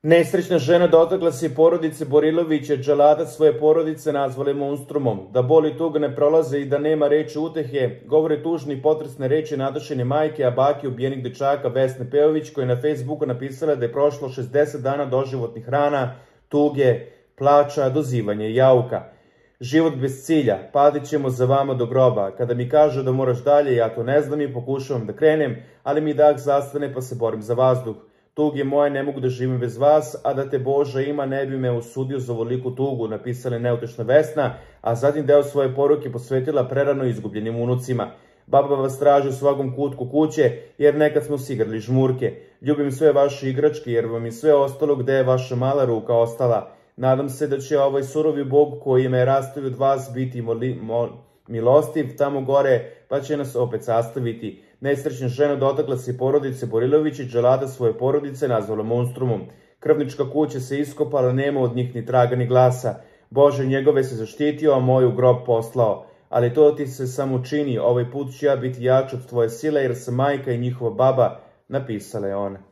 Nesrećna žena dotakla se i porodice Borilovića, dželada svoje porodice nazvale monstrumom. Da boli tuga ne prolaze i da nema reči utehe, govore tužne i potresne reči Natašine majke, a bake ubijenih dečaka Vesne Pejović, koja je na Facebooku napisala da je prošlo 60 dana doživotnih rana, tuge, plača, dozivanja i jauka. Život bez cilja, padit ćemo za vama do groba. Kada mi kažu da moraš dalje, ja to ne znam i pokušavam da krenem, ali mi dah zastane pa se borim za vazduh. Tuge moje, ne mogu da živim bez vas, a da te Boža ima ne bi me osudio za ovoliku tugu, napisala je neutešna Vesna, a zatim deo svoje poruke posvetila prerano izgubljenim unucima. Baba vas traži u svakom kutku kuće, jer nekad smo si igrali žmurke. Ljubim sve vaše igračke, jer vam je sve ostalo gde je vaša mala ruka ostala. Nadam se da će ovaj surovi Bog koji me rastavi od vas biti milostiv tamo gore, pa će nas opet sastaviti. Nesrećna žena dotakla se i porodice Borilović i dželada svoje porodice nazvala monstrumom. Krvnička kuća se iskopala, nema od njih ni traga ni glasa. Bože njegove se zaštitio, a moj u grob poslao. Ali to ti se samo čini, ovaj put ću ja biti jač od tvoje sile, jer sam majka i njihova baba, napisala je ona.